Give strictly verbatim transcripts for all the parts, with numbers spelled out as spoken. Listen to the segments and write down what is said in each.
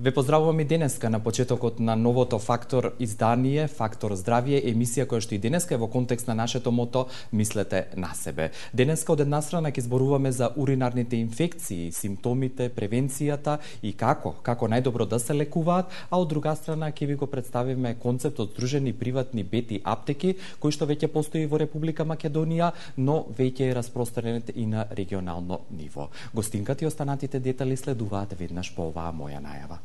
Ве поздравувам и денеска на почетокот на новото Фактор издание, Фактор здравје, емисија која што и денеска е во контекст на нашето мото Мислете на себе. Денеска од една страна ќе зборуваме за уринарните инфекции, симптомите, превенцијата и како, како најдобро да се лекуваат, а од друга страна ќе ви го представиме концептот Здружени приватни бети аптеки, кој што веќе постои во Република Македонија, но веќе е распространет и на регионално ниво. Гостинката и останатите детали следуваат веднаш по оваа моја најава.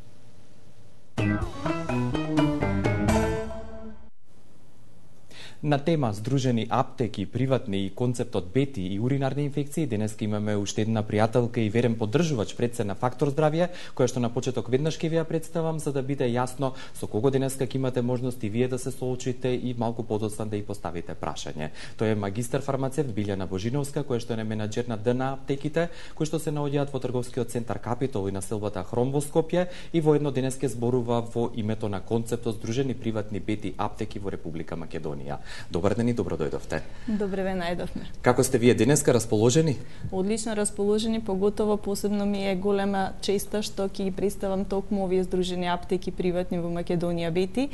На тема Здружени аптеки, приватни и концептот бети и уринарни инфекции, денеска имаме уште една пријателка и верен поддржувач пред се на Фактор здравје, која што на почеток веднаш ќе ви ја представам, за да биде јасно со кого денеска ќе имате можност и вие да се соочите и малку подоцна да и поставите прашање. Тој е магистар фармацевт Билјана Божиновска, која што е менаџер на ДН аптеките, кои што се наоѓаат во трговскиот центар Капитол и населбата Хром во Скопје, и воедно денеска зборува во името на концептот Здружени приватни бети аптеки во Република Македонија. Добар ден и добро дојдовте. Добре ве најдовме. Како сте вие денеска, расположени? Одлично расположени, поготово посебно ми е голема честа што ќе ги представам токму овие Здружени аптеки приватни во Македонија бети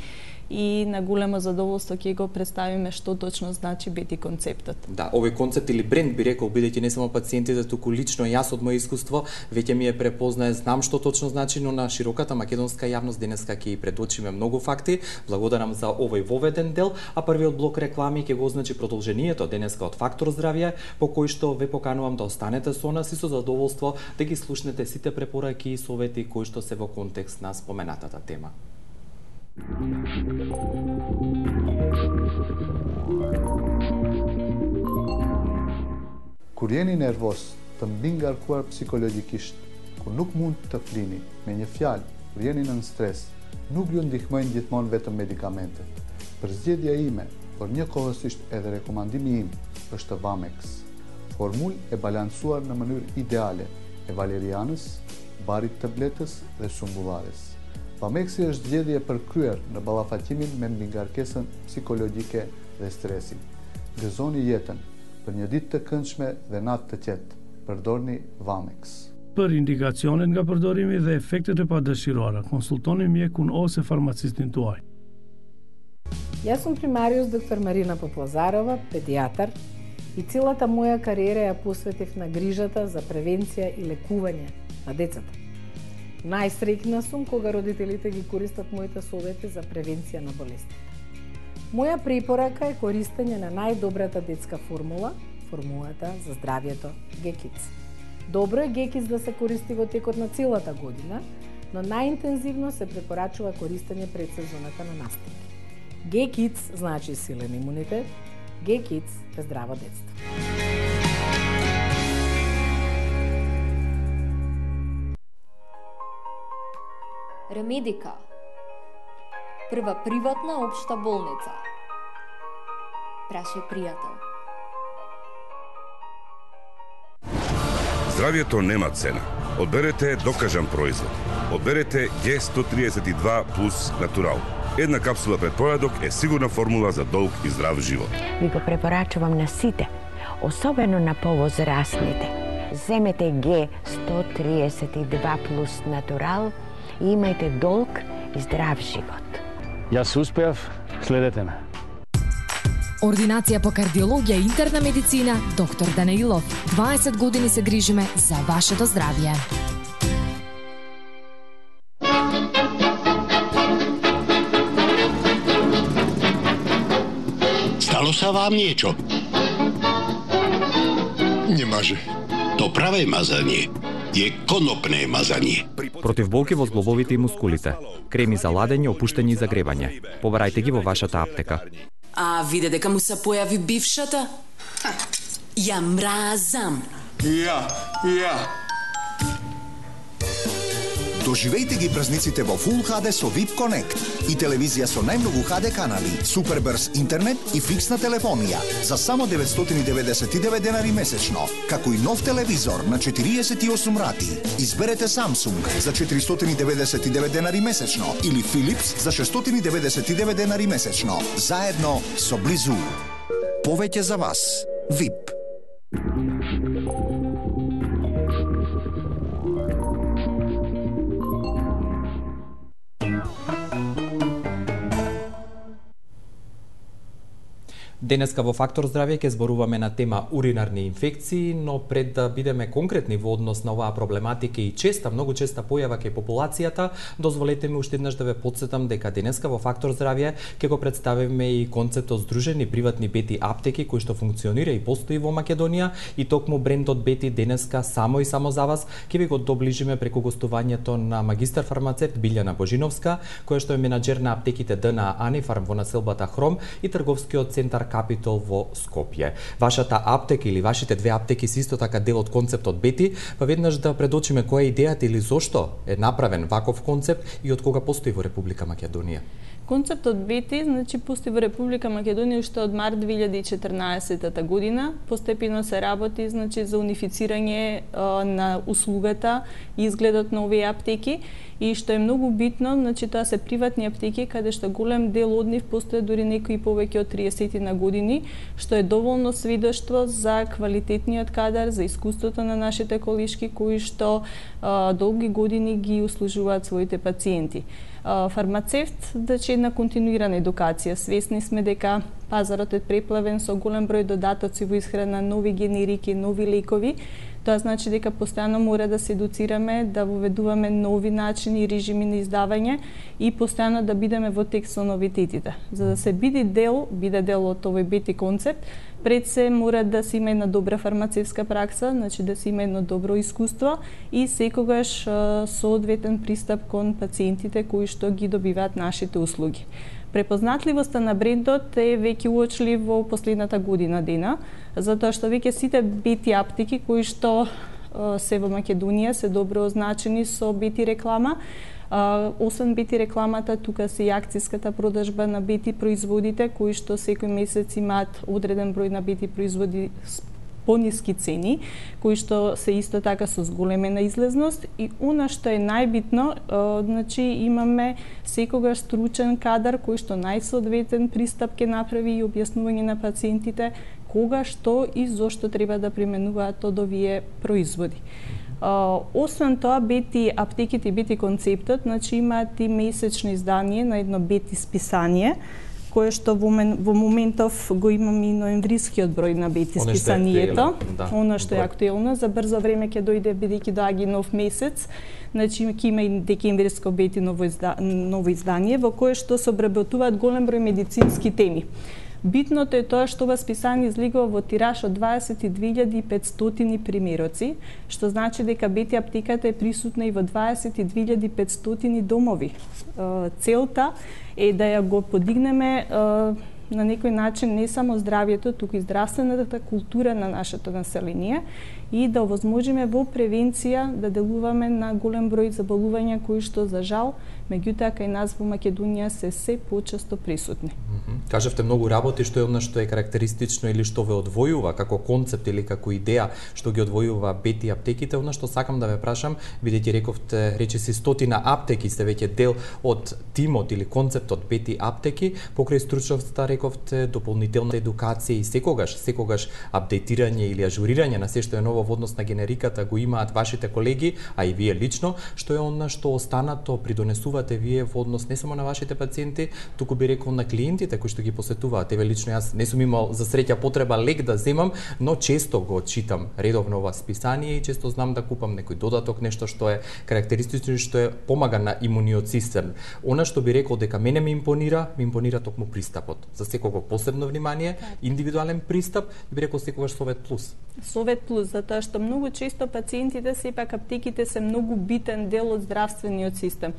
и на големо задоволство ќе го представиме што точно значи бети концептот. Да, овој концепт или бренд би рекол, бидејќи не само пациентите, туку лично јас од моје искуство веќе ми е препознае, знам што точно значи, но на широката македонска јавност денеска ќе и предочиме многу факти. Благодарам за овој воведен дел, а првиот блок реклами ќе го означи продолжението денеска од Фактор здравје, по кој што ве поканувам да останете со нас и со задоволство да ги слушнете сите препораки и совети кои што се во контекст на споменатата тема. Kur jeni nervos, të mbi ngarkuar psikologjikisht, kur nuk mund të flini, me një fjalë, kur jeni nën stres, nuk ju ndihmojnë gjithmonë vetëm medikamentet. Përzgjedhja ime, por njëkohësisht edhe rekomandimi im, është Vamex. Formulë e balancuar në mënyrë ideale e valerianës, barit të bletës dhe sumbullarës. Vamexi është zgjedhje përkryer në ballafaqimin me mbingarkesën psikologjike dhe stresin. Gëzoni jetën për një ditë të këndshme dhe natë të qetë. Përdorni Vamex. Për indikacionet nga përdorimi dhe efektet e padëshiruara, konsultoni mjekun ose farmacistin tuaj. Јас сум примариус доктор Марина Попозарова, педијатар, и целата моја кариера ја посветив на грижата за превенција и лекување на децата. Најсреќна сум кога родителите ги користат моите совети за превенција на болестите. Моја препорака е користење на најдобрата детска формула, формулата за здравјето Г-Kids. Добро е Г-Kids да се користи во текот на целата година, но најинтензивно се препорачува користење пред сезоната на настики. Г-Kids значи силен имунитет, Г-Kids е здраво детство. Ремедика, прва приватна општа болница. Праше пријател. Здравјето нема цена. Одберете докажан производ. Одберете Г сто триесет и два плюс Натурал. Една капсула пред појадок е сигурна формула за долг и здрав живот. Ви го препорачувам на сите, особено на повозрастните. Земете Г сто триесет и два плюс Натурал и имајте долг и здрав живот. Јас успеав, следете ме. Ординација по кардиологија и интерна медицина, доктор Данаилов. дваесет години се грижиме за вашето здравје. Стало са вам niečo? Не може. То праве мазање е конопне мазање. Против болки во зглобовите и мускулите. Креми за ладење, опуштање и загревање. Побарајте ги во вашата аптека. А виде дека му се појави бившата? Ја мразам. Ја, ја. Доживејте ги празниците во Full ейч ди со VIP Connect и телевизија со најмногу ейч ди канали, супер брз интернет и фиксна телефонија за само деветстотини и деветдесет и девет денари месечно, како и нов телевизор на четириесет и осум рати. Изберете Samsung за четиристотини и деветдесет и девет денари месечно или Philips за шестстотини и деветдесет и девет денари месечно, заедно со Близу. Повеќе за вас. VIP. Денеска во Фактор здравје ќе зборуваме на тема уринарни инфекции, но пред да бидеме конкретни во однос на оваа проблематика и честа, многу честа појава кај популацијата, дозволете ми уште еднаш да ве потсетам дека денеска во Фактор здравје ќе го представиме и концептот Здружени приватни Бети аптеки кој што функционира и постои во Македонија и токму брендот Бети денеска само и само за вас ќе ви го доближиме преку гостувањето на магистар фармацевт Билјана Божиновска, која што е менаџер на аптеките Д Н А Анифарм во населбата Хром и трговскиот центар Капитол во Скопје. Вашата аптека или вашите две аптеки се исто така дел од концептот Бети, па веднаш да предочиме која е идејата или зошто е направен ваков концепт и од кога постои во Република Македонија. Концептот Бети, значи, постои во Република Македонија уште од март две илјади и четрнаесетта година. Постепено се работи, значи, за унифицирање а, на услугата и изгледот на овие аптеки. И што е многу битно, значи, тоа се приватни аптеки, каде што голем дел од нив постои дури некои повеќе од триесет на години, што е доволно свидоштво за квалитетниот кадар, за искуството на нашите колешки кои што а, долги години ги услужуваат своите пациенти. Фармацевт, значи, една континуирана едукација. Свесни сме дека пазарот е преплавен со голем број додатоци во исхрана, нови генерики, нови лекови. Тоа значи дека постојано мора да се едуцираме, да воведуваме нови начини и режими на издавање и постојано да бидеме во текст со новитетите. За да се биде дел, биде дел од овој Бети концепт, пред се мора да се има една добра фармацевска пракса, значи да се има едно добро искуство и секогаш соодветен пристап кон пациентите кои што ги добиваат нашите услуги. Препознатливоста на брендот е веќе уочлив во последната година дена, затоа што веќе сите Бети аптеки кои што се во Македонија се добро означени со Бети реклама. Uh, освен Бети рекламата, тука се и акцијската продажба на Бети производите, кои што секој месец имаат одреден број на Бети производи пониски цени, кои што се исто така со зголемена излезност и она што е најбитно, uh, значи имаме секогаш стручен кадар кој што најсоодветен пристап ќе направи и објаснување на пациентите кога, што и зошто треба да применуваат од овие производи. Uh, освен тоа, Бети аптеките и Бети концептот, значи имаат и месечно издание на едно Бети списание, кое што во, мен, во моментов го имам и ноемврискиот број на Бети Оно списанието. Да, Оно што е актуелно, за брзо време ќе дојде бидејќи доаѓа нов месец. Значи ќе има и декемвриско Бети ново, изда, ново издание во кое што се обработуваат голем број медицински теми. Битното е тоа што ова списание излегува во тираж од дваесет и две илјади и петстотини примероци, што значи дека Бети аптеката е присутна и во дваесет и две илјади и петстотини домови. Целта е да ја го подигнеме на некој начин не само здравјето, туку и здравствената култура на нашето население и да овозможиме во превенција да делуваме на голем број заболувања кои што за жал меѓутоа кај нас во Македонија се се почесто присутни. Mm-hmm. Кажавте многу работи, што е она што е карактеристично или што ве одвојува како концепт или како идеја што ги одвојува Бети аптеките. Она што сакам да ве прашам, бидејќи рековте речиси стотина аптеки сте веќе дел од тимот или концептот Бети аптеки, покрај стручноста рековте дополнителна едукација и секогаш, секогаш апдейтирање или ажурирање на се што е ново во однос на генериката го имаат вашите колеги, а и вие лично, што е она што останато придонесувате вие во однос не само на вашите пациенти, туку би рекол на клиентите кои што ги посетуваат. Еве лично јас не сум имал за среќа потреба лек да земам, но често го читам редовно ова списание и често знам да купам некој додаток, нешто што е карактеристично и што е помага на имуниот систем. Она што би рекол дека мене ми импонира, ми импонира токму пристапот. За секого посебно внимание, индивидуален пристап, би рекол секогаш Совет Плюс. Совет Плюс, затоа што многу често пациентите сепак аптеките се многу битен дел од здравствениот систем.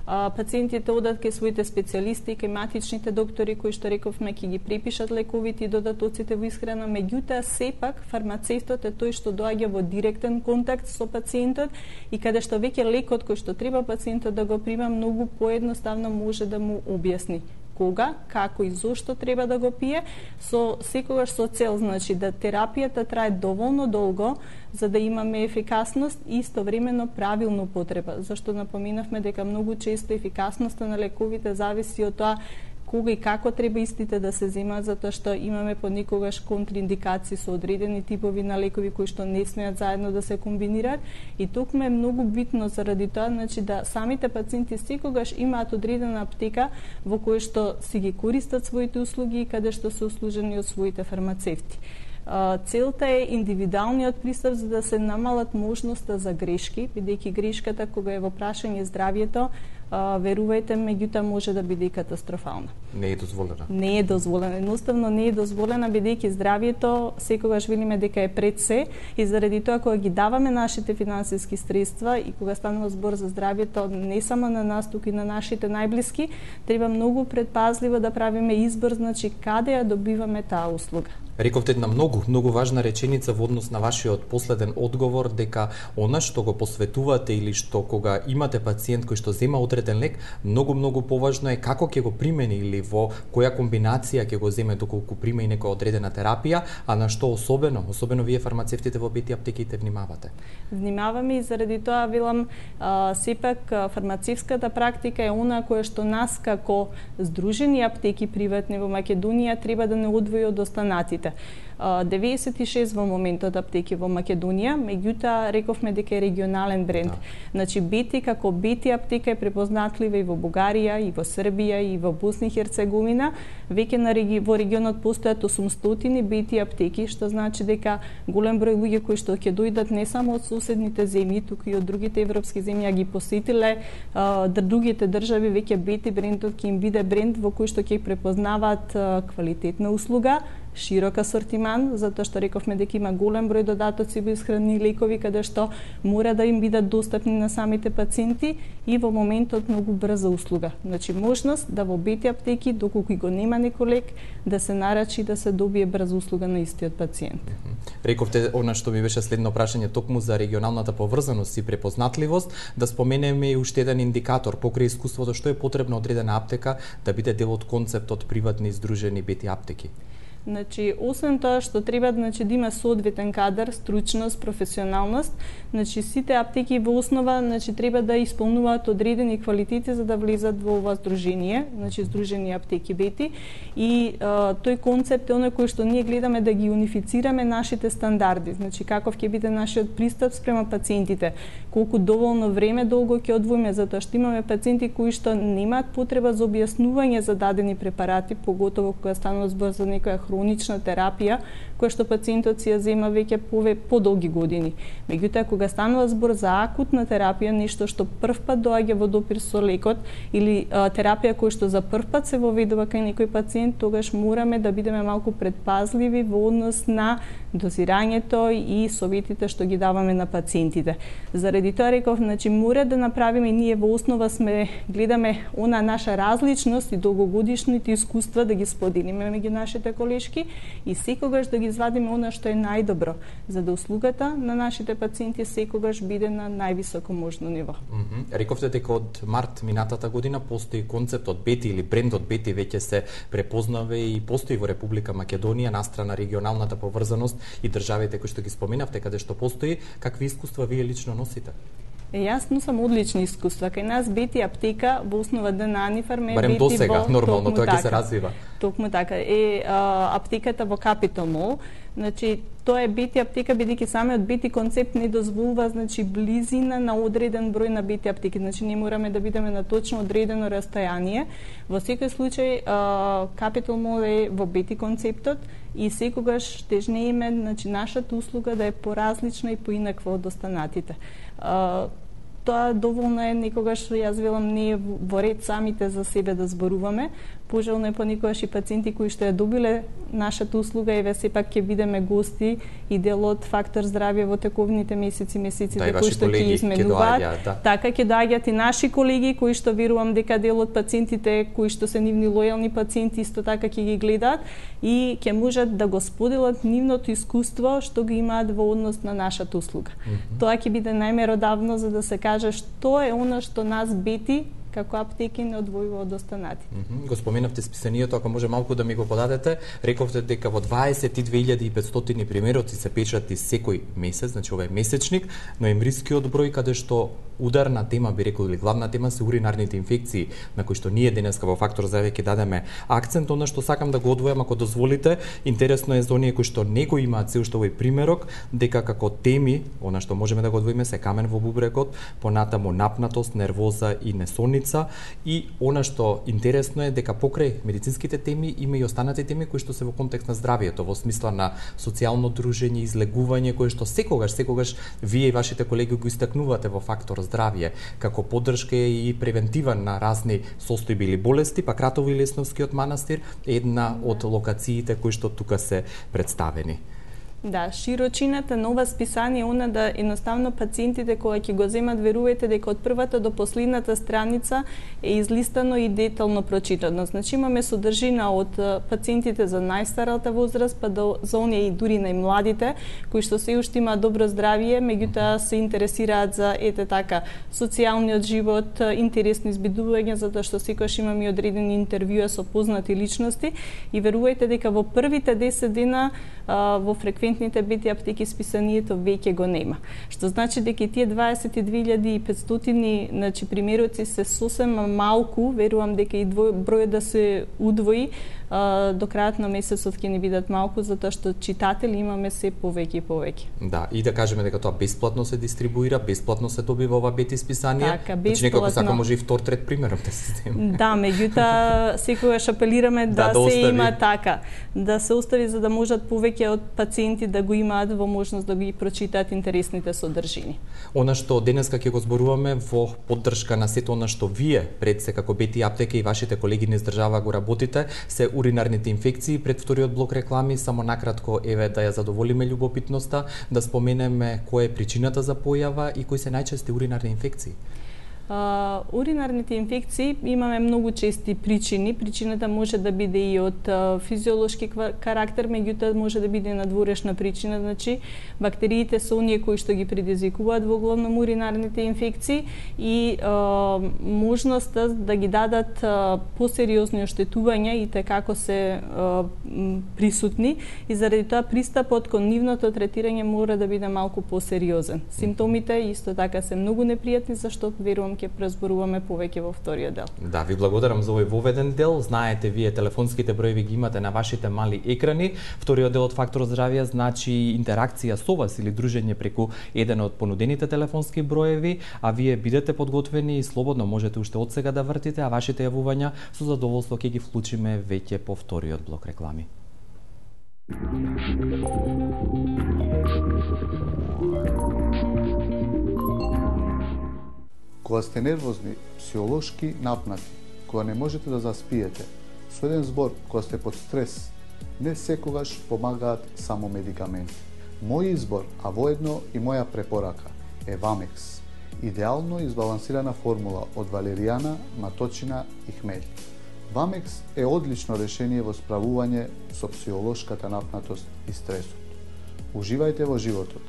Пациентите одат кај своите специјалисти, кај матичните доктори кои што рековме ќе ги препишат лековите и додатоците во исхрана, меѓутоа сепак фармацевтот е тој што доаѓа во директен контакт со пациентот и каде што веќе лекот кој што треба пациентот да го прима многу поедноставно може да му објасни кога, како и зошто треба да го пие, со секогаш со цел, значи да терапијата трае доволно долго за да имаме ефикасност и истовремено правилно потреба. Зашто напоминавме дека многу често ефикасноста на лековите зависи од тоа кога и како треба истите да се земаат, затоа што имаме понекогаш контраиндикации со одредени типови на лекови кои што не смеат заедно да се комбинираат и токму е многу битно заради тоа, значи да самите пациенти секогаш имаат одредена аптека во која што си ги користат своите услуги и каде што се услужени од своите фармацевти. Целта е индивидуалниот пристап за да се намалат можноста за грешки, бидејќи грешката кога е во прашање здравјето, верувајте, меѓутоа може да биде и катастрофална. Не е дозволена. Не е дозволена, едноставно не е дозволена бидејќи здравјето секогаш велиме дека е пред се и заради тоа кога ги даваме нашите финансиски средства и кога станува збор за здравјето не само на нас, туку и на нашите најблиски, треба многу предпазливо да правиме избор, значи каде ја добиваме таа услуга. Рековте една многу, многу важна реченица во однос на вашиот последен одговор дека она што го посветувате или што кога имате пациент кој што зема одреден лек, многу, многу поважно е како ќе го примени или во која комбинација ќе го земе доколку прима и некоја одредена терапија, а на што особено, особено вие фармацевтите во Бети аптеките внимавате? Внимаваме и заради тоа велам, а, сепак фармацевската практика е она која што нас како Здружени аптеки приватни во Македонија треба да не одвои од останатите. деветдесет и шест во моментот аптеки во Македонија, меѓутоа рековме дека е регионален бренд. Да. Значи Бети како Бети аптека е препознатлива и во Бугарија, и во Србија, и во Босна и Херцеговина. Веќе на реги... во регионот постојат осумстотини Бети аптеки, што значи дека голем број луѓе кои што ќе дојдат не само од соседните земји, туку и од другите европски земји, а ги посетиле а, другите држави, веќе Бети брендот ќе им биде бренд во кој што ќе препознаваат а, квалитетна услуга, широк асортиман, затоа што рековме дека има голем број додатоци во исхрани лекови каде што мора да им бидат достапни на самите пациенти и во моментот многу брза услуга. Значи можност да во Бети аптеки доколку го нема некој лек да се нарачи да се добие брза услуга на истиот пациент. Рековте она што ми беше следно прашање токму за регионалната поврзаност и препознатливост, да споменеме и уште еден индикатор покрај искуството што е потребно одредена аптека да биде дел од концептот приватни здружени Бети аптеки. Значи, освен тоа што треба значи, да има соодветен кадар, стручност, професионалност, значи сите аптеки во основа значи треба да исполнуваат одредени квалитети за да влезат во ова здружение, значи Здружени аптеки Бети и а, тој концепт е оној кој што ние гледаме да ги унифицираме нашите стандарди, значи каков ќе биде нашиот пристап спрема пациентите, колку доволно време долго ќе одвоиме затоа што имаме пациенти кои што немаат потреба за објаснување за дадени препарати, поготово кога станува збор за некоја хронична терапија, која што пациентот си ја зема веќе пове подолги години. Меѓутоа, кога станува збор за акутна терапија, нешто што првпат доаѓа во допир со лекот или а, терапија која што за првпат се воведува кај некој пациент, тогаш мораме да бидеме малку предпазливи во однос на дозирањето и советите што ги даваме на пациентите. Заради тоа реков, значи мора да направиме ние во основа сме гледаме она наша различност и долгогодишните искуства да ги споделиме меѓу нашите колешки и секогаш да ги извадиме она што е најдобро, за да услугата на нашите пациенти секогаш биде на највисоко можно ниво. Mm -hmm. Рековте дека од март минатата година постои концептот Бети или брендот Бети веќе се препознава и постои во Република Македонија настрана регионалната поврзаност и државите кои што ги споменавте каде што постои. Какви искуства вие лично носите? Е, јас носам одлични искуства. Кај нас Бети аптека во основа на Анифарм е Барем Бети до сега, во нормално, тоа ќе така, се развива. Токму така. Е а, аптеката во Capital Mall, значи тоа е Бети аптека бидејќи самиот Бети концепт не дозволува значи близина на одреден број на Бети аптеки, значи не мораме да бидеме на точно одредено растојание. Во секој случај а, Capital Mall е во Бети концептот и секогаш тежнееме значи нашата услуга да е поразлична и поинаква од останатите. А, тоа доволно е некогаш, јас велам, не е во ред самите за себе да зборуваме, пожелно е поникогаш и пациенти кои што ја добиле нашата услуга, еве сепак ќе бидеме гости и дел од Фактор здравје во тековните месеци, месеците да, кои што ќе изменуваат. Да. Така ќе доаѓаат и наши колеги кои што верувам дека дел од пациентите кои што се нивни лојални пациенти исто така ќе ги гледаат и ќе можат да го споделат нивното искуство што го имаат во однос на нашата услуга. Mm -hmm. Тоа ќе биде најмеродавно за да се каже што е она што нас бети како аптеки не одвојува од останатите. Mm -hmm. Го споменавте списанието, ако може малку да ми го подадете. Рековте дека во дваесет и две илјади и петстотини примероци се печати секој месец, значи ова е месечник, ноемврискиот број каде што ударна тема, би рекол, или главна тема се уринарните инфекции, на кои што ние денеска во Фактор здравје ќе дадеме акцент. Она што сакам да го одвојам, ако дозволите, интересно е за оние кои што не го имаат се уште овој примерок, дека како теми, она што можеме да го одвоиме се камен во бубрекот, понатаму напнатост, нервоза и несонница, и она што интересно е дека покрај медицинските теми има и останати теми кои што се во контекст на здравието, во смисла на социјално дружење, излегување, кое што секогаш, секогаш вие и вашите колеги го истакнувате во Фактор здравје како поддршка и превентива на разни состојби или болести, па Кратово и Лесновскиот манастир е една од локациите кои што тука се представени. Да, широчината на ова списание е она да едноставно пациентите кога ќе го земат, верувајте дека од првата до последната страница е излистано и детално прочитано. Значи имаме содржина од пациентите за најстарата возраст па до за оние и дури најмладите кои што се уште имаат добро здравје, меѓутоа се интересираат за ете така социјалниот живот, интересни избидувања, затоа што секогаш имаме и одредени интервјуа со познати личности и верувајте дека во првите десет дена во фреквентните бети аптеки списанието веќе го нема. Што значи дека тие дваесет и две илјади и петстотини значи примероци се сосем малку, верувам дека и бројот да се удвои до крајот на месецот ќе ни бидат малку, затоа што читатели имаме се повеќе и повеќе. Да, и да кажеме дека тоа бесплатно се дистрибуира, бесплатно се добива ова бети списание. Така, бесплатно. Значи некако сака може и втор, трет примерок да се земе. Да, меѓутоа секогаш апелираме да, да, да се има така, да се остави за да можат повеќе од пациенти да го имаат во можност да ги прочитаат интересните содржини. Она што денеска ќе го зборуваме во поддршка на сето она што вие пред се како бети аптека и вашите колеги низ држава го работите, се уринарните инфекции. Пред вториот блок реклами, само накратко еве да ја задоволиме љубопитноста, да споменеме која е причината за појава и кои се најчести уринарни инфекции. Uh, уринарните инфекции имаме многу чести причини. Причината може да биде и од uh, физиолошки карактер, меѓутоа може да биде надворешна причина, значи бактериите се оние кои што ги предизвикуваат во главном уринарните инфекции и uh, можноста да ги дадат uh, посериозни оштетувања и како се uh, присутни и заради тоа пристапот кон нивното третирање мора да биде малку посериозен. Симптомите исто така се многу непријатни, зашто верувам ќе презборуваме повеќе во вториот дел. Да, ви благодарам за овој воведен дел. Знаете, вие телефонските броеви ги имате на вашите мали екрани. Вториот дел од Фактор здравје значи интеракција со вас или дружење преку еден од понудените телефонски броеви, а вие бидете подготвени и слободно можете уште од сега да вртите, а вашите јавувања со задоволство ќе ги вклучиме веќе по вториот блок реклами. Кога сте нервозни, психолошки напнати, кога не можете да заспиете, со еден збор, кога сте под стрес, не секогаш помагаат само медикаменти. Мој избор, а воедно и моја препорака, е Вамекс. Идеално избалансирана формула од валеријана, маточина и хмелј. Вамекс е одлично решение во справување со психолошката напнатост и стресот. Уживајте во животот.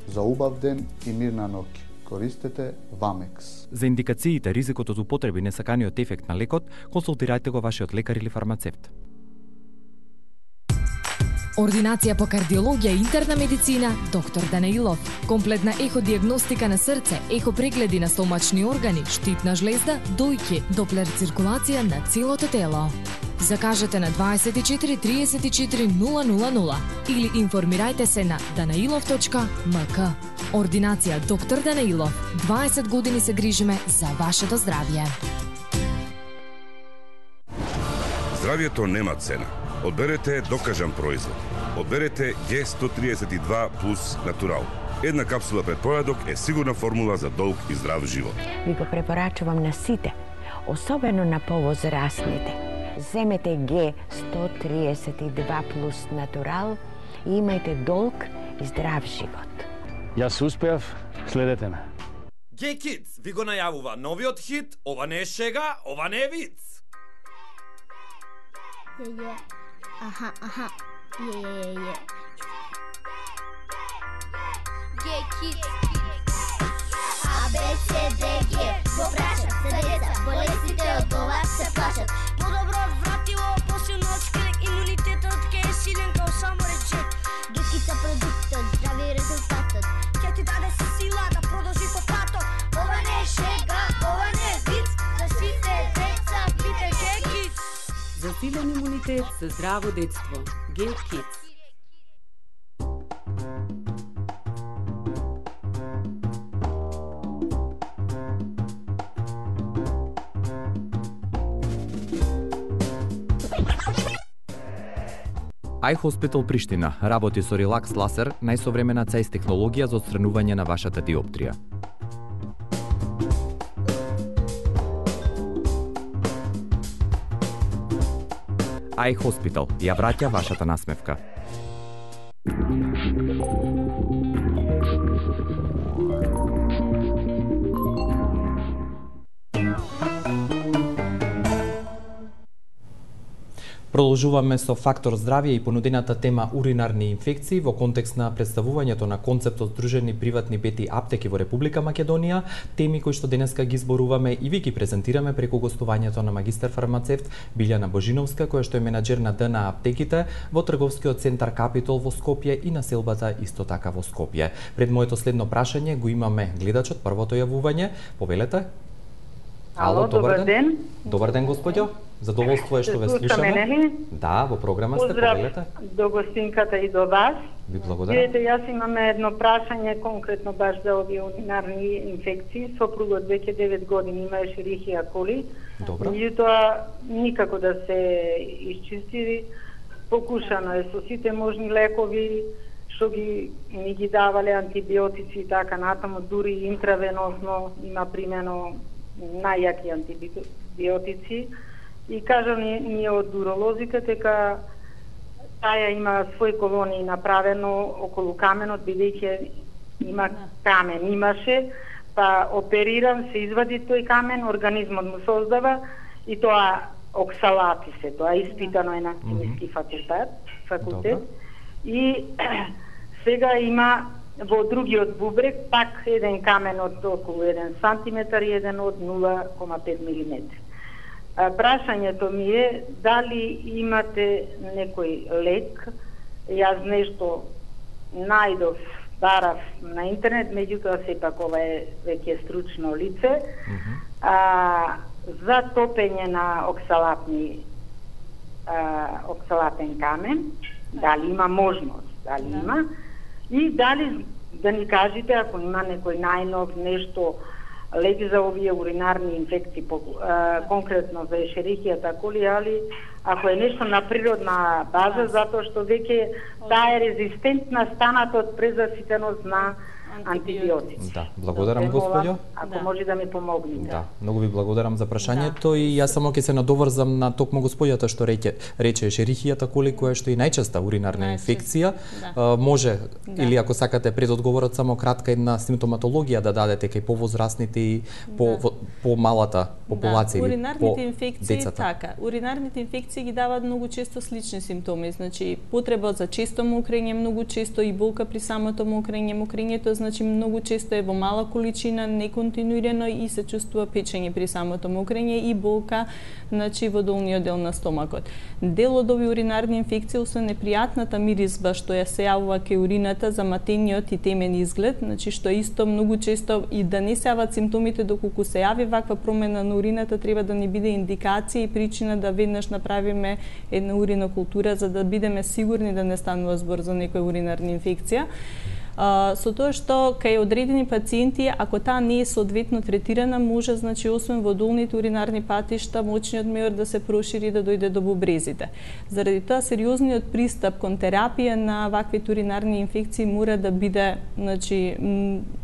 За убав ден и мирна ноќ. Користете Вамекс. За индикациите, ризикот од употреби, несаканиот ефект на лекот, консултирајте го вашиот лекар или фармацевт. Ординација по кардиологија и интерна медицина, доктор Данаилов. Комплетна еходиагностика на срце, ехопрегледи на стомачни органи, штитна жлезда, дојки, доплер циркулација на целото тело. Закажете на дваесет и четири триесет и четири нула нула нула или информирајте се на данаилов точка ем ка. Ординација доктор Данаилов. дваесет години се грижиме за вашето здравје. Здравјето нема цена. Одберете докажан производ. Одберете Г сто триесет и два плюс Натурал. Една капсула пред појадок е сигурна формула за долг и здрав живот. Ви го препорачувам на сите, особено на повозрастните. Земете Г сто триесет и два плюс натурал и имајте долг и здрав живот. Јас успеав, следете ме. Г Kids ви го најавува новиот хит, ова не е шега, ова не е виц. Е, е. Аха, аха. Е, е, е. Г Kids. А, Б, С, Д, Г. Го прашат се деца, болестите од ова се плашат. Подобро вратило, посилно од скрек, имунитетот ке е силен као само речет. Гекица продуктот, здрави резултатот. Ке ти даде сила да продолжи по патот. Ова не е шега, ова не е виц. За сите деца пите Г Kids. За силен имунитет, за здраво детство. Г Kids. iHospital Приштина работи со релакс ласер, најсовремена цејс технологија за отстранување на вашата диоптрија. iHospital ја враќа вашата насмевка. Продолжуваме со Фактор здравје и понудената тема уринарни инфекции во контекст на представувањето на концептот Здружени приватни бети аптеки во Република Македонија, теми кои што денеска ги зборуваме и ви ги презентираме преку гостувањето на магистар фармацевт Билјана Божиновска, која што е менаџер на Д Н А аптеките во трговскиот центар Капитол во Скопје и населбата исто така во Скопје. Пред моето следно прашање го имаме гледачот, првото јавување. Повелете. Ало, добар ден. ден. Добар ден, господјо. Задоволство е што ве слушаме. Да, во програма сте, повелете. Поздрав до гостинката и до вас. Ви благодарам. Видете, јас имаме едно прашање конкретно баш за овие уринарни инфекции. Сопругот веќе девет години има Ешерихија коли. Добро. Меѓутоа никако да се исчисти. Покушано е со сите можни лекови што ги ни ги давале, антибиотици и така натаму, дури интравеносно има примено најјаки антибиотици. И кажа ни, ние од уролозика дека таа има свој колонии направено околу каменот, бидејќи има камен, имаше, па опериран, се извади тој камен, организмот му создава и тоа оксалати се, тоа испитано е на химиски факултет, факултет. И сега има во другиот бубрек пак еден камен од околу еден сантиметар и еден од нула кома пет милиметри. Прашањето ми е дали имате некој лек. Јас нешто најдов, барав на интернет, меѓутоа сепак ова е веќе стручно лице, mm -hmm. а, за топење на оксалатни а, оксалатен камен, дали има можност, дали да. има, и дали да ни кажете ако има некој најнов нешто лек за овие уринарни инфекции, по, а, конкретно за ешерихијата коли, али ако е нешто на природна база, затоа што веќе таа е резистентна станат од презаситеност на антибиотици. Да, благодарам господјо. Ако да. може да ми помогнете. Да, многу ви благодарам за прашањето да. и јас само ќе се надоврзам на токму господјата што рече, рече ешерихијата коли, која што е најчеста уринарна најчест. инфекција. Да. А, може да. или ако сакате пред одговорот само кратка една симптоматологија да дадете кај повозрастните и по да. по малата популација да. или уринарните по инфекции децата. Така, уринарните инфекции ги даваат многу често слични симптоми, значи потреба за често мокрење, многу често и болка при самото мокрење, мокрењето значи многу често е во мала количина, неконтинуирано и се чувствува печење при самото мокрење и болка, значи во долниот дел на стомакот. Дел од овие уринарни инфекции, освен непријатната миризба што ја се јавува кај урината, заматениот и темен изглед, значи што исто многу често и да не се јават симптомите доколку се јави ваква промена на урината, треба да ни биде индикација и причина да веднаш направиме една уринокултура за да бидеме сигурни да не станува збор за некоја уринарна инфекција. Uh, со тоа што кај одредени пациенти, ако таа не е соодветно третирана, може, значи, освен во долните уринарни патишта, мочниот меор да се прошири да дојде до бубрезите. Заради тоа, сериозниот пристап кон терапија на вакви уринарни инфекции мора да биде, значи,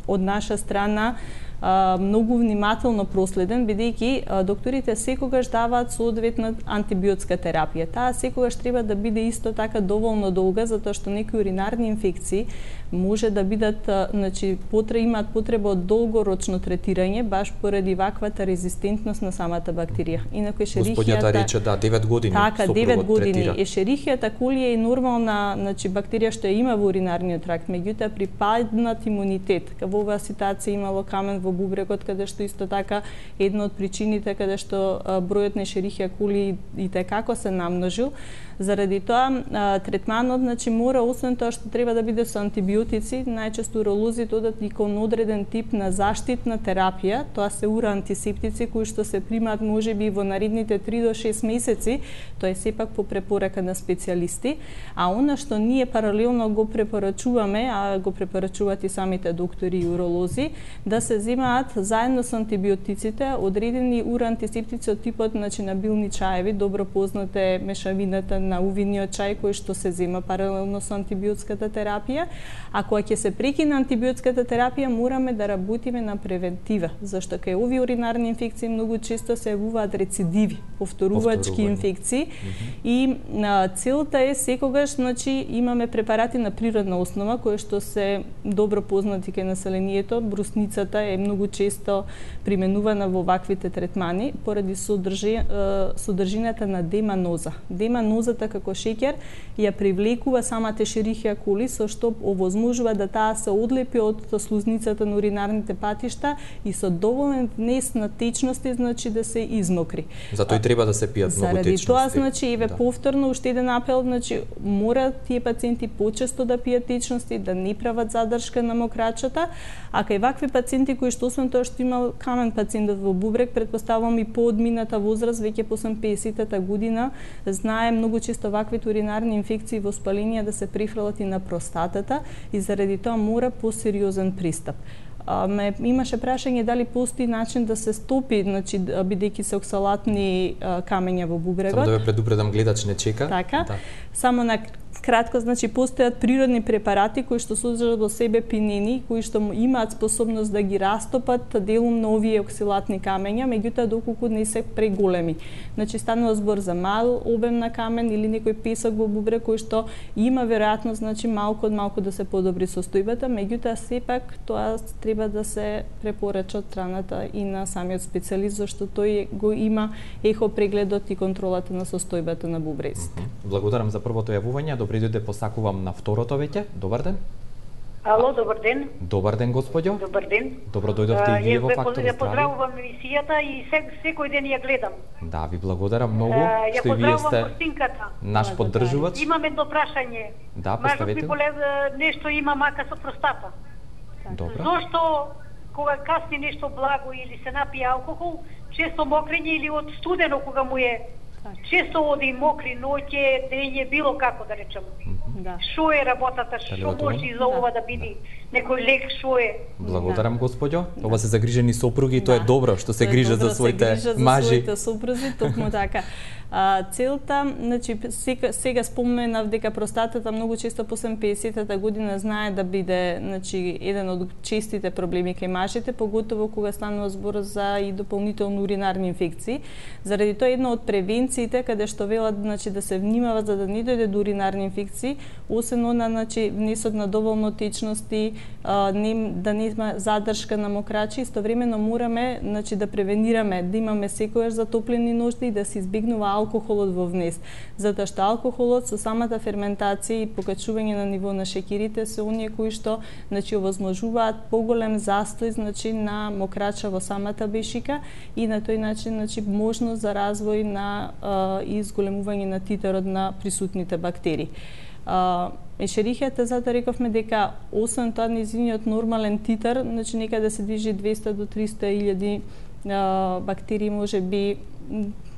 од наша страна, а, многу внимателно проследен, бидејќи а, докторите секогаш даваат соодветна антибиотска терапија. Таа секогаш треба да биде исто така доволно долга, затоа што некои уринарни инфекции може да бидат, значи, потре, имаат потреба од долгорочно третирање, баш поради ваквата резистентност на самата бактерија. Инаку ешерихијата... Господјата рече, да, девет години така, девет години. Третира. Ешерихијата коли е нормална, значи, бактерија што ја има во уринарниот тракт, меѓутоа при паднат имунитет, во оваа ситуација имало камен во бубрегот, каде што исто така една од причините каде што бројот на ешерихија коли и текако се намножил. Заради тоа, третманот, значи, мора, освен тоа што треба да биде со антибиотици, најчесто уролозите одат и кон одреден тип на заштитна терапија, тоа се ура-антисептици кои што се примаат можеби во наредните три до шест месеци, тоа е сепак по препорака на специјалисти, а она што ние паралелно го препорачуваме, а го препорачуваат и самите доктори и уролози, да се земаат заедно со антибиотиците одредени ура-антисептици од типот, значи, на билни чаеви, добро познате мешавината на увиниот чај кој што се зема паралелно со антибиотската терапија, а кога ќе се прекине антибиотската терапија, мораме да работиме на превентива, зашто кај овие уринарни инфекции многу често се јавуваат рецидиви, повторувачки инфекции, mm -hmm. и а, целта е секогаш, значи, имаме препарати на природна основа кои што се добро познати кај населението. Брусницата е многу често применувана во ваквите третмани поради содржи, содржината на деманоза. Деманозата како шеќер ја привлекува самата ешерихија коли, со што овозможува да таа се одлепи од слузницата на уринарните патишта и со доволен внес на течности, значи, да се измокри. Затоа и треба да се пијат многу течности. Заради тоа, значи, еве, да. повторно уште еден апел, значи, мора тие пациенти почесто да пијат течности, да не прават задршка на мокрачата, а кај вакви пациенти кои што освен тоа што имал камен пациентот во бубрек, претпоставувам и по одмината возраст, веќе по песетта година, знае многу често ваквите уринарни инфекции во спаленија да се прифрлат и на простатата и заради тоа мора посериозен пристап. А, ме имаше прашање дали постои начин да се стопи, значи, бидејќи се оксалатни а, камења во бубрегот. Само да ве предупредам, гледач не чека. Така. Да. Само на кратко, значи, постојат природни препарати кои што содржат во себе пинени, кои што имаат способност да ги растопат делум на овие оксалатни камења, меѓутоа доколку не се преголеми. Значи, станува збор за мал обем на камен или некој песок во бубрек кој што има веројатност, значи, малку од малку да се подобри состојбата, меѓутоа сепак тоа треба да се препорача од страната и на самиот специјалист, зашто тој го има ехо прегледот и контролата на состојбата на бубрезите. Благодарам за првото јавување. Добри дојде, посакувам на второто веќе. Добар ден. Ало, добар ден. Добар ден, господјо. Добар ден. Добро дојдовте и вие во Фактор здравје. Ја поздравувам емисијата и секој ден ја гледам. Да, ви благодарам многу што и вие сте наш поддржувач. Имам едно прашање. Да, поставете. Мажу нешто има мака со простата. Добро. Зошто кога касни нешто благо или се напие алкохол, често мокрење или од студено кога му е често оди мокри ноќе, дење, било како да речем. Да. Шо е работата, што може и за ова да биде некој лек, шо е? Благодарам, господјо. Ова се загрижени сопруги, тоа е добро што се грижат за своите мажи. За своите сопрузи, токму така. А, целта, значи, сега, сега споменав дека простатата многу често после песетта година знае да биде, значи, еден од честите проблеми кај мажите, поготово кога станува збор за и дополнително уринарни инфекции. Заради тоа една од превенциите каде што велат, значи, да се внимава за да не дојде до уринарни инфекции, освен она, значи, внесот на доволно течности, а, не, да не има задршка на мокрачи, истовремено мораме, значи, да превенираме, да имаме секојаш затоплени ношти и да се избегнува алкохолот во внес, затоа што алкохолот со самата ферментација и покачување на ниво на шеќерите се оние кои што, значи, овозможуваат поголем застој, значи, на мокрача во самата бешика и на тој начин, значи, можност за развој на а, и изголемување на титарот на присутните бактерии. А, ешерихијата, затоа рековме дека освен тоа низиниот нормален титар, значи некаде се движи двеста до триста илјади бактерии може би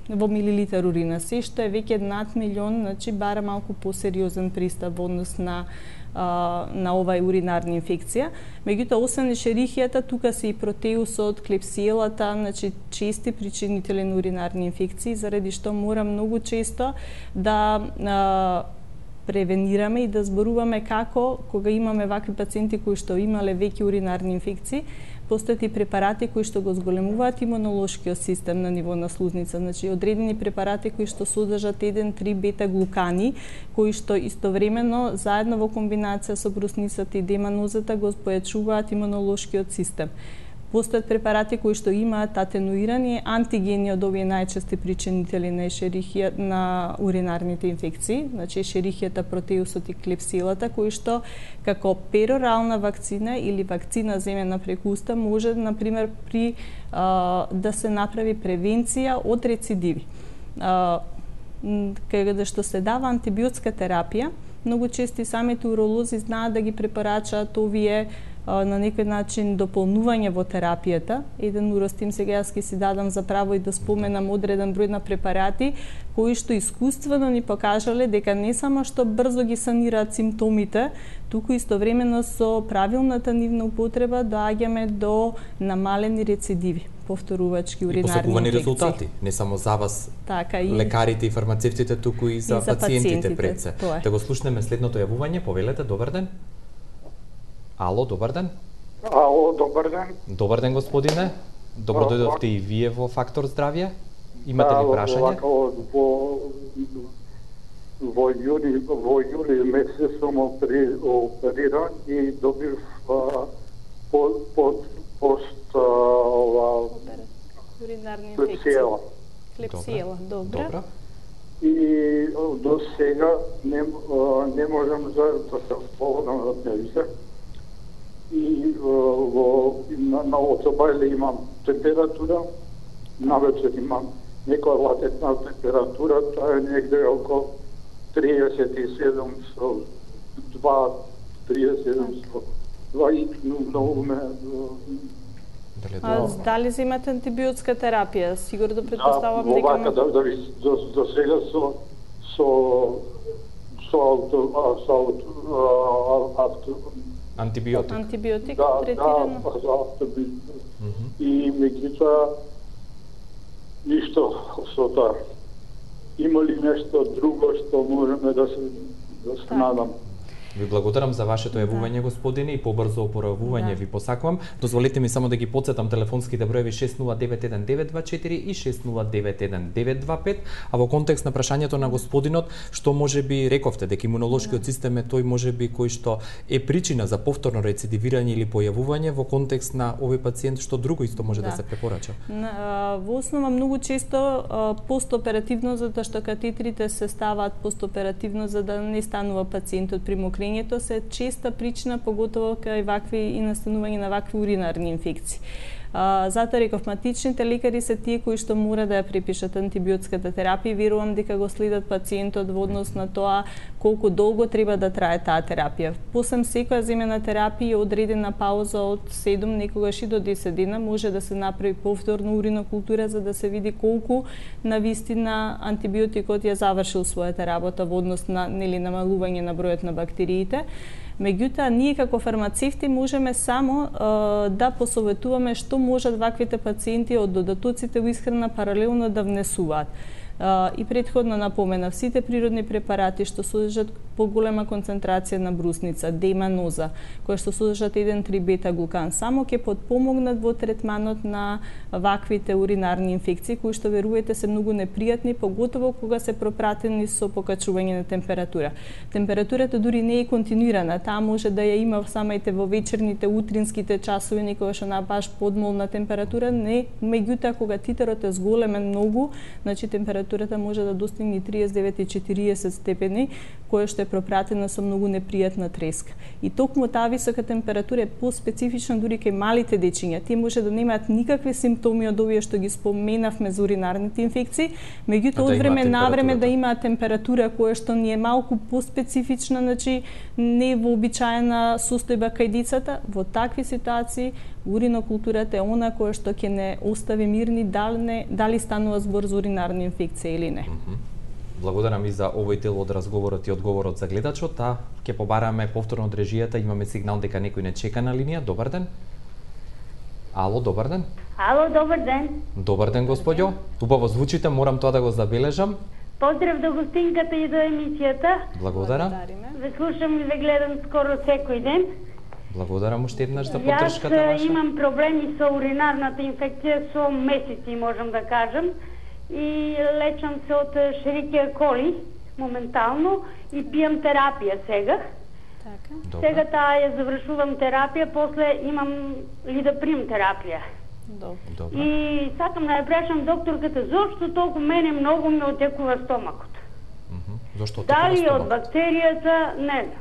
во милилитар урина, се што е веќе над милион, значи бара малку посериозен пристап во однос на а, на овај уринарна инфекција. Меѓутоа, освен ешерихијата, тука се и протеусот, клепсиелата, значи чести причинители на уринарни инфекции, заради што мора многу често да а, превенираме и да зборуваме како, кога имаме вакви пациенти кои што имале веќе уринарни инфекции, Постојат и препарати кои што го зголемуваат имунолошкиот систем на ниво на слузница, значи одредени препарати кои што содржат еден-три бета-глукани, кои што истовремено заедно во комбинација со брусницата и деманозата го појачуваат имунолошкиот систем. Постојат препарати кои што имаат атенуирани антигени од овие најчести причинители на ешерихија на уринарните инфекции, значи ешерихијата, протеусот и клепсилата, кои што како перорална вакцина или вакцина земена преку уста може, например, при а, да се направи превенција од рецидиви. А, каде што се дава антибиотска терапија, многу чести самите уролози знаат да ги препорачаат овие на некој начин дополнување во терапијата. Еден уростим сега јас ке си дадам за право и да споменам одреден број на препарати кои што искуствено ни покажале дека не само што брзо ги санираат симптомите, туку истовремено со правилната нивна употреба доаѓаме до намалени рецидиви, повторувачки уринарни инфекции. И посакувани резултати, не само за вас, така, и лекарите и фармацевтите, туку и за, и за пациентите, пациентите пред се. Да го слушнеме следното јавување, повелете, добар ден. Ало, добар ден. Ало, добар ден. Добар ден, господине. Добро дојдовте и вие во Фактор здравје. Имате ли прашање? Во, во, во јули, во јули месец сум опериран и добив под, под, пост уринарни инфекции. Клепсиела, добро. И до сега не, не можам да се слободам од неја. И во на, на оцобајле имам температура, навечер имам некоја латентна температура, тоа е негде околу триесет и седум со два, триесет и седум со два и многу ме... А дали земате антибиотска терапија? Сигурно да предпоставам дека... дека... Да, да, да, до, до сега со со со авто, со авто, антибиотик. Антибиотик да, третирано? Да, за антибиотик. Mm -hmm. И меѓутоа ништо со тоа. Има ли нешто друго што можеме да се да се надам? Ви благодарам за вашето јавување, господине, и побрзо опоравување да. Ви посакувам. Дозволете ми само да ги потсетам телефонските броеви шест нула девет еден девет два четири и шест нула девет еден девет два пет, а во контекст на прашањето на господинот, што може би рековте дека имунолошкиот да. Систем е тој може би кој што е причина за повторно рецидивирање или појавување во контекст на овој пациент, што друго исто може да, да се препорача? На, во основа многу често постоперативно, затоа што катетрите се ставаат постоперативно за да не станува пациентот при мокрење, се честа причина, поготово кај вакви и настанување на вакви уринарни инфекции. А, затоа ревматичните лекари се тие кои што мора да ја препишат антибиотската терапија. Верувам дека го следат пациентот во однос на тоа колку долго треба да трае таа терапија. Посем секоја земена терапија одредена пауза од седум, некогаш и до десет дена може да се направи повторно уринокултура за да се види колку на вистина антибиотикот ја завршил својата работа во однос на нели намалување на бројот на бактериите. Меѓутоа, ние како фармацевти можеме само е, да посоветуваме што можат ваквите пациенти од додатоците во исхрана паралелно да внесуваат. И претходно напоменав, сите природни препарати што содржат поголема концентрација на брусница, деманоза, која што содржат еден-три бета-глукан, само ќе потпомогнат во третманот на ваквите уринарни инфекции, кои што верувате се многу непријатни, поготово кога се пропратени со покачување на температура. Температурата дури не е континуирана, таа може да ја има самајте во вечерните, утринските часови, некогаш на баш подмолна температура, не, меѓутоа кога титерот е зголемен многу, значи температурата може да достигне триесет и девет и четириесет степени, која што е пропратена со многу непријатна треска. И токму таа висока температура е поспецифична дури кај малите дечиња. Тие може да немаат никакви симптоми од овие што ги споменавме за уринарните инфекции, меѓутоа од време на време да имаат температура која што ни е малку поспецифична, значи не вообичаена состојба кај децата. Во такви ситуации уринокултурата е она која што ќе не остави мирни дали, не, дали станува збор за уринарна инфекција или не. Mm-hmm. Благодарам и за овој дел од разговорот и одговорот за гледачот, а ќе побараме повторно од режијата, имаме сигнал дека некој не чека на линија. Добар ден. Ало, добар ден. Ало, добар ден. Добар ден, господјо. Убаво звучите, морам тоа да го забележам. Поздрав до гостинката и до емисијата. Благодарам. Ве слушам и ве гледам скоро секој ден. Благодарам уште еднаш за поддршката Јас ваша. имам проблеми со уринарната инфекција со месеци, можам да кажам, и лечам се од Шерикија коли моментално и пијам терапија сега. Така. Сега таа ја завршувам терапија, после имам ли да примам терапија. Добро. И сакам да ја прашам докторката зошто толку мене многу ми отекува стомакот. Зошто отекува Дали стомакот? од бактеријата, не знам.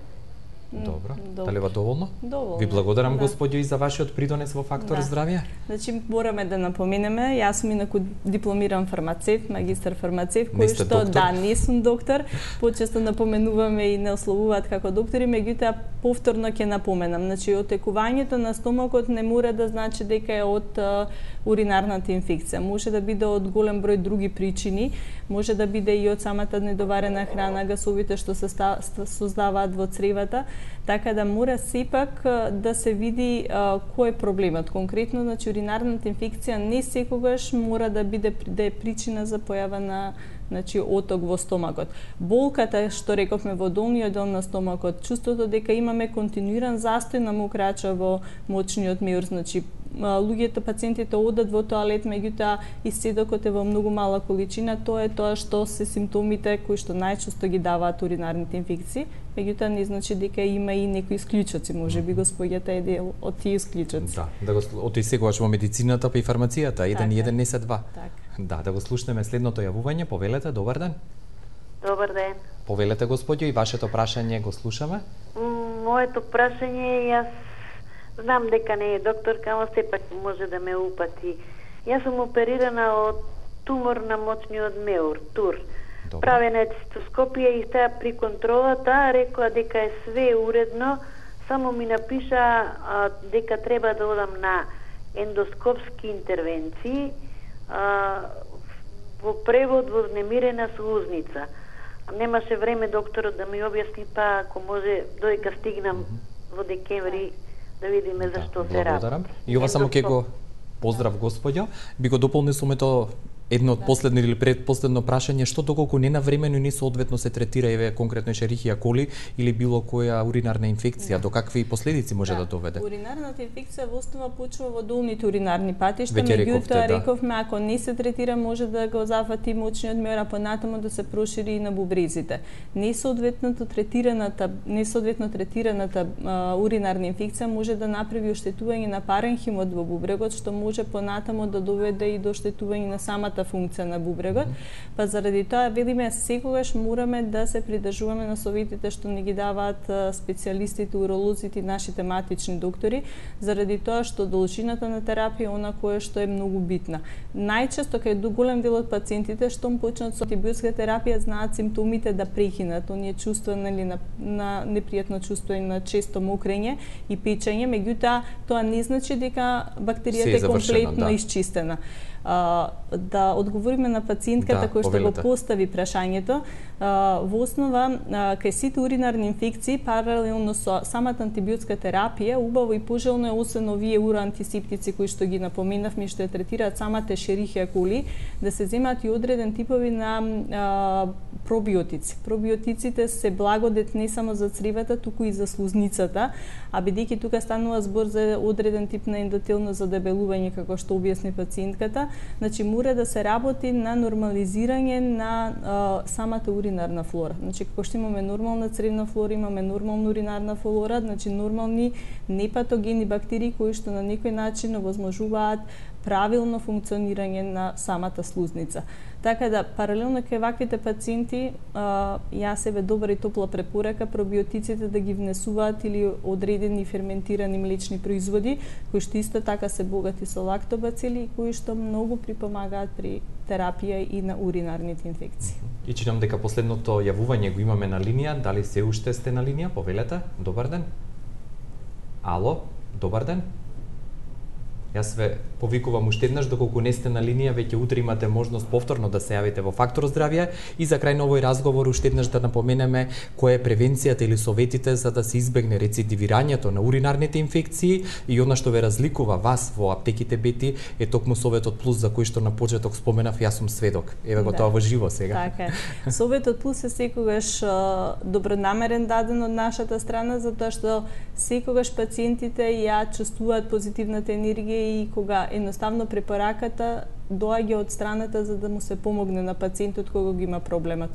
Добро. Добро. Дали ва доволно? Доволно. Ви благодарам, Да. господјо, и за вашиот придонес во Фактор Да. здравје. Значи, мораме да напоменеме, јас сум инаку дипломиран фармацевт, магистар фармацевт, Не кој сте што, доктор? да, не сум доктор, почесто напоменуваме и не ословуваат како доктори, меѓутоа повторно ќе напоменам. Значи, отекувањето на стомакот не мора да значи дека е од а, уринарната инфекција. Може да биде од голем број други причини, може да биде и од самата недоварена храна, гасовите што се ста- ста- создаваат во цревата, така да мора сепак а, да се види а, кој е проблемот. Конкретно, значи, уринарната инфекција не секогаш мора да биде да е причина за појава на значи оток во стомакот. Болката што рековме во долниот дел на стомакот, чувството дека имаме континуиран застој на мокрача во мочниот меур, значи луѓето, пациентите одат во тоалет, меѓутоа исцедокот е во многу мала количина, тоа е тоа што се симптомите кои што најчесто ги даваат уринарните инфекции, меѓутоа не значи дека има и некои исклучоци, можеби господјата е дел од тие исклучоци. Да, да го оти секогаш во медицината па и фармацијата, еден и еден не се два. Така. Да, да го слушнеме следното јавување, повелете, добар ден. Добар ден. Повелете, господјо, и вашето прашање го слушаме. М, Моето прашање е, јас знам дека не е докторка, ама сепак може да ме упати. Јас сум оперирана од тумор на мочниот меур, тур. Правена е цистоскопија и таа при контролата рекоа дека е све уредно, само ми напиша а, дека треба да одам на ендоскопски интервенции, а, во превод вознемирена слузница. Немаше време докторот да ми објасни, па ако може додека стигнам во декември да видиме за што се работи. Благодарам. И ова само ќе го поздрав, господјо. Би го дополнил сумето едно од последно или предпоследно прашање, што доколку не навремено и не соодветно се третира еве конкретно Ешерихија коли или било која уринарна инфекција, до какви последици може да, да доведе? Уринарната инфекција во основа почува во долните уринарни патишта, Веќе меѓутоа рековте, да. рековме ако не се третира може да го зафати мочниот меур, а понатаму да се прошири и на бубрезите. Несоодветното третираната несоодветно третираната а, уринарна инфекција може да направи оштетување на паренхимот во бубрегот, што може понатаму да доведе и до оштетување на самата функција на бубрегот, па заради тоа велиме секогаш мораме да се придржуваме на советите што ни ги даваат специјалистите, уролозите и нашите матични доктори, заради тоа што должината на терапија е она кое што е многу битна. Најчесто кај голем дел од пациентите што почнат со антибиотска терапија знаат симптомите да прекинат, оние чувства нели на, на непријатно чувство и на често мокрење и печење, меѓутоа тоа не значи дека бактеријата е комплетно да. Исчистена. Uh, да одговориме на пациентката да, која што го постави прашањето, uh, во основа uh, кај сите уринарни инфекции паралелно со самата антибиотска терапија убаво и пожелно е освен овие уроантисептици кои што ги напоменавме што ја третираат самата Ешерихија коли, да се земат и одреден типови на uh, пробиотици. Пробиотиците се благодет не само за цревата, туку и за слузницата, а бидејќи тука станува збор за одреден тип на ендотелно задебелување како што објасни пациентката, значи мора да се работи на нормализирање на а, самата уринарна флора. Значи како што имаме нормална цревна флора, имаме нормална уринарна флора, значи нормални непатогени бактерии кои што на некој начин овозможуваат правилно функционирање на самата слузница. Така да, паралелно кај ваквите пациенти, а, јас еве добра и топла препорека пробиотиците да ги внесуваат или одредени ферментирани млечни производи, кои што исто така се богати со лактобацили и кои што многу припомагаат при терапија и на уринарните инфекции. И читам дека последното јавување го имаме на линија, дали се уште сте на линија? Повелете, добар ден. Ало, добар ден. Јас ве повикувам уште еднаш, доколку не сте на линија, веќе утре имате можност повторно да се јавите во Фактор здравје и за крај на овој разговор уште еднаш да напоменеме која е превенцијата или советите за да се избегне рецидивирањето на уринарните инфекции и она што ве разликува вас во аптеките Бети е токму Советот Плюс за кој што на почеток споменав, јас сум сведок. Еве го да. Тоа во живо сега. Така е. Советот Плюс е секогаш добронамерен даден од нашата страна затоа што секогаш пациентите ја чувствуваат позитивната енергија и кога едноставно препораката доаѓа од страната за да му се помогне на пациентот кога го има проблемот.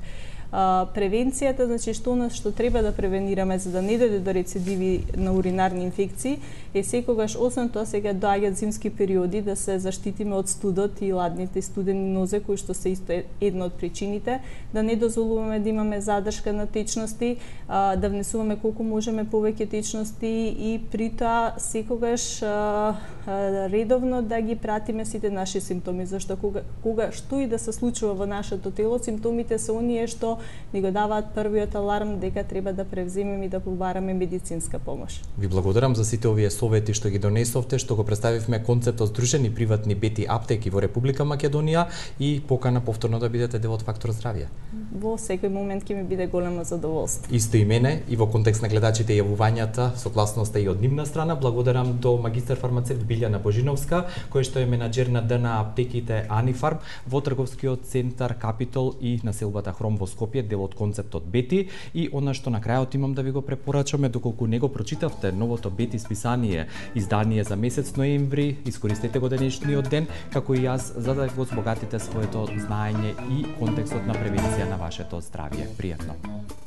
А, превенцијата, значи што нас што треба да превенираме за да не дојде до рецидиви на уринарни инфекции е секогаш, освен тоа сега доаѓаат зимски периоди, да се заштитиме од студот и ладните студени нозе кои што се исто една од причините, да не дозволуваме да имаме задршка на течности, а, да внесуваме колку можеме повеќе течности и при тоа секогаш а, а, редовно да ги пратиме сите наши симптоми, зашто кога, кога што и да се случува во нашето тело, симптомите се оние што ни го даваат првиот аларм дека треба да превземеме и да побараме медицинска помош. Ви благодарам за сите овие совети што ги донесовте, што го представивме концептот Здружени приватни Бети аптеки во Република Македонија и покана повторно да бидете дел од Фактор здравје. Во секој момент ќе ми биде големо задоволство. Исто и мене и во контекст на гледачите и јавувањата, согласноста и од нивна страна, благодарам до магистар фармацевт Билјана Божиновска, кој што е менаџер на ДНА аптеките Анифарм во трговскиот центар Капитол и населбата Хром во Скопје, дел од концептот Бети, и она што на крајот имам да ви го препорачаме, доколку не го прочитавте новото Бети списание, издание за месец ноември, искористете го денешниот ден, како и јас, за да го збогатите своето знаење и контекстот на превенција на вашето здравје. Пријатно!